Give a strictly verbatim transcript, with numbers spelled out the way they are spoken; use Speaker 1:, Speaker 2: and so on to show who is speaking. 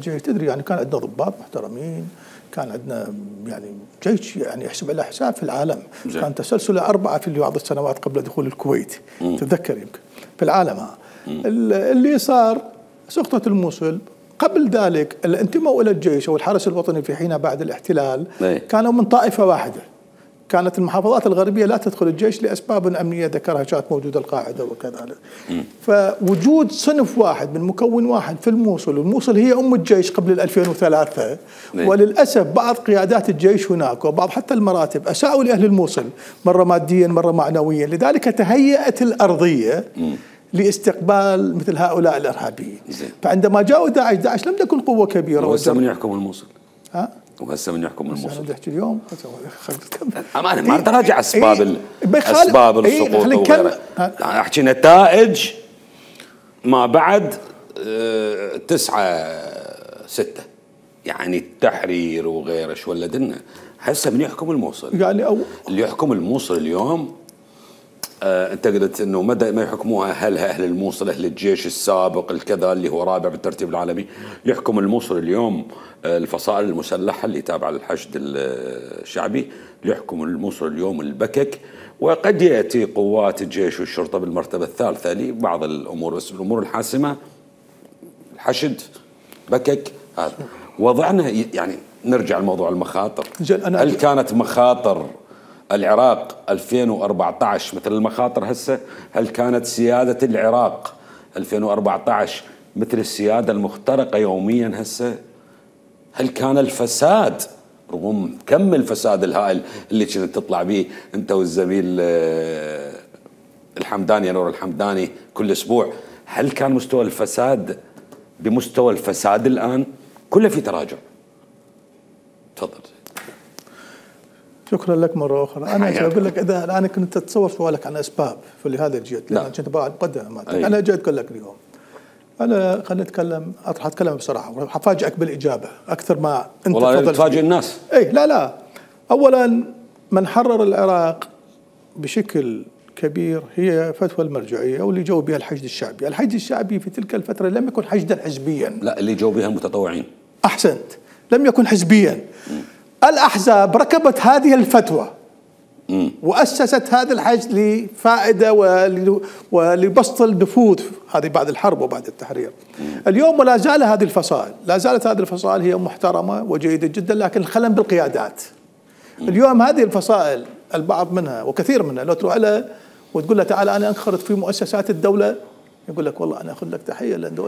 Speaker 1: الجيش تدري يعني كان عندنا ضباط محترمين، كان عندنا يعني جيش يعني يحسب له حساب في العالم. زي. كان تسلسله أربعة في بعض السنوات قبل دخول الكويت. مم. تتذكر يمكن في العالم. ها اللي صار سقطت الموصل. قبل ذلك اللي انتموا الى الجيش او الحرس الوطني في حينها بعد الاحتلال مي. كانوا من طائفه واحده. كانت المحافظات الغربيه لا تدخل الجيش لاسباب امنيه ذكرها، كانت موجوده القاعده وكذا. فوجود صنف واحد من مكون واحد في الموصل، والموصل هي ام الجيش قبل ال ألفين وثلاثة، مي. وللاسف بعض قيادات الجيش هناك وبعض حتى المراتب اساءوا لاهل الموصل مره ماديا مره معنويا، لذلك تهيأت الارضيه م. لاستقبال مثل هؤلاء الارهابيين. فعندما جاءوا داعش، داعش لم تكن قوه كبيره.
Speaker 2: وهسه من يحكم الموصل؟
Speaker 1: ها؟
Speaker 2: وهسه من يحكم الموصل؟
Speaker 1: بدي احكي اليوم
Speaker 2: امانه ما تراجع اسباب إيه؟ اسباب السقوط إيه؟ وغيرها. يعني احكي نتائج ما بعد اه تسعة ستة، يعني التحرير وغيره شو ولدنا. هسه من يحكم الموصل؟
Speaker 1: يعني أو
Speaker 2: اللي يحكم الموصل اليوم آه انت قلت انه مدى ما يحكموها اهلها، اهل الموصل، اهل الجيش السابق الكذا اللي هو رابع بالترتيب العالمي. يحكم الموصل اليوم آه الفصائل المسلحه اللي تابعه للحشد الشعبي، يحكم الموصل اليوم البكك، وقد ياتي قوات الجيش والشرطه بالمرتبه الثالثه لبعض الامور، بس الامور الحاسمه الحشد بكك. هذا وضعنا. يعني نرجع لموضوع المخاطر. هل كانت مخاطر العراق ألفين وأربعة عشر مثل المخاطر هسه؟ هل كانت سيادة العراق ألفين وأربعة عشر مثل السيادة المخترقة يوميا هسه؟ هل كان الفساد رغم كم الفساد الهائل اللي كنت تطلع به انت والزميل الحمداني نور الحمداني كل اسبوع، هل كان مستوى الفساد بمستوى الفساد الآن؟ كله في تراجع. تفضل.
Speaker 1: شكرا لك مرة أخرى. أنا أقول لك إذا الآن كنت تتصور سؤالك عن أسباب فلهذا جيت، لأن كنت بعد مقدمة. أنا جيت أقول لك اليوم، أنا خلينا نتكلم، راح أتكلم بصراحة وحفاجئك بالإجابة أكثر ما أنت
Speaker 2: والله تفاجئ الناس.
Speaker 1: إيه لا لا. أولا من حرر العراق بشكل كبير هي فتوى المرجعية واللي جو بها الحشد الشعبي. الحشد الشعبي في تلك الفترة لم يكن حشدا حزبيا.
Speaker 2: لا، اللي جو بها المتطوعين.
Speaker 1: أحسنت، لم يكن حزبيا. م. الأحزاب ركبت هذه الفتوى م. وأسست هذا الحشد لفائدة ولبسط النفوذ، هذه بعد الحرب وبعد التحرير. م. اليوم ولا زال هذه الفصائل، لا زالت هذه الفصائل هي محترمة وجيدة جدا، لكن الخلل بالقيادات. م. اليوم هذه الفصائل البعض منها وكثير منها لو تروح لها وتقول له تعال أنا أنخرط في مؤسسات الدولة، يقول لك والله أنا أخذ لك تحية لأن دولة